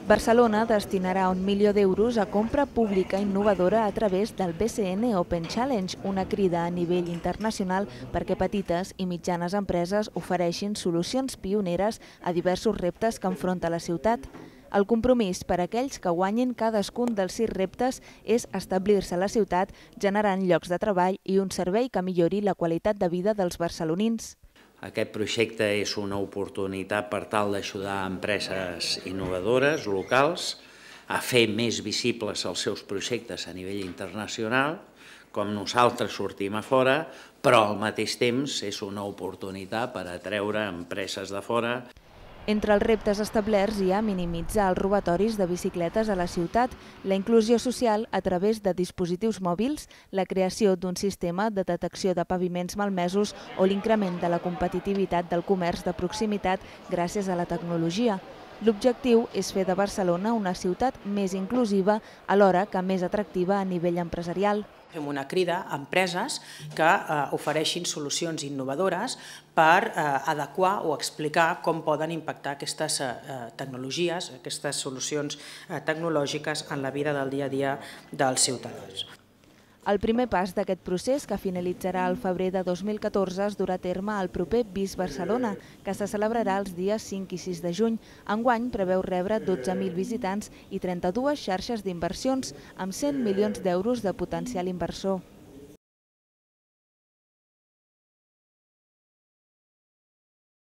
Barcelona destinarà 1 milió d'euros a compra pública innovadora a través del BCN Open Challenge, una crida a nivell internacional perquè petites i mitjanes empreses ofereixin solucions pioneres a diversos reptes que enfronta la ciutat. El compromís per a aquells que guanyin cadascun dels 6 reptes és establir-se a la ciutat generant llocs de treball i un servei que millori la qualitat de vida dels barcelonins. Aquest projecte és una oportunitat per tal d'ajudar empreses innovadores, locals, a fer més visibles els seus projectes a nivell internacional, com nosaltres sortim a fora, però al mateix temps és una oportunitat per atreure empreses de fora. Entre els reptes establerts hi ha minimitzar els robatoris de bicicletes a la ciutat, la inclusió social a través de dispositius mòbils, la creació d'un sistema de detecció de paviments malmesos o l'increment de la competitivitat del comerç de proximitat gràcies a la tecnologia. L'objectiu és fer de Barcelona una ciutat més inclusiva alhora que més atractiva a nivell empresarial. Fem una crida a empreses que ofereixin solucions innovadores per adequar o explicar com poden impactar aquestes tecnologies, aquestes solucions tecnològiques en la vida del dia a dia dels ciutadans. El primer pas d'aquest procés, que finalitzarà al febrer de 2014, es durà a terme al proper BIS Barcelona, que se celebrarà els dies 5 i 6 de juny. Enguany preveu rebre 12.000 visitants i 32 xarxes d'inversions, amb 100 milions d'euros de potencial inversor.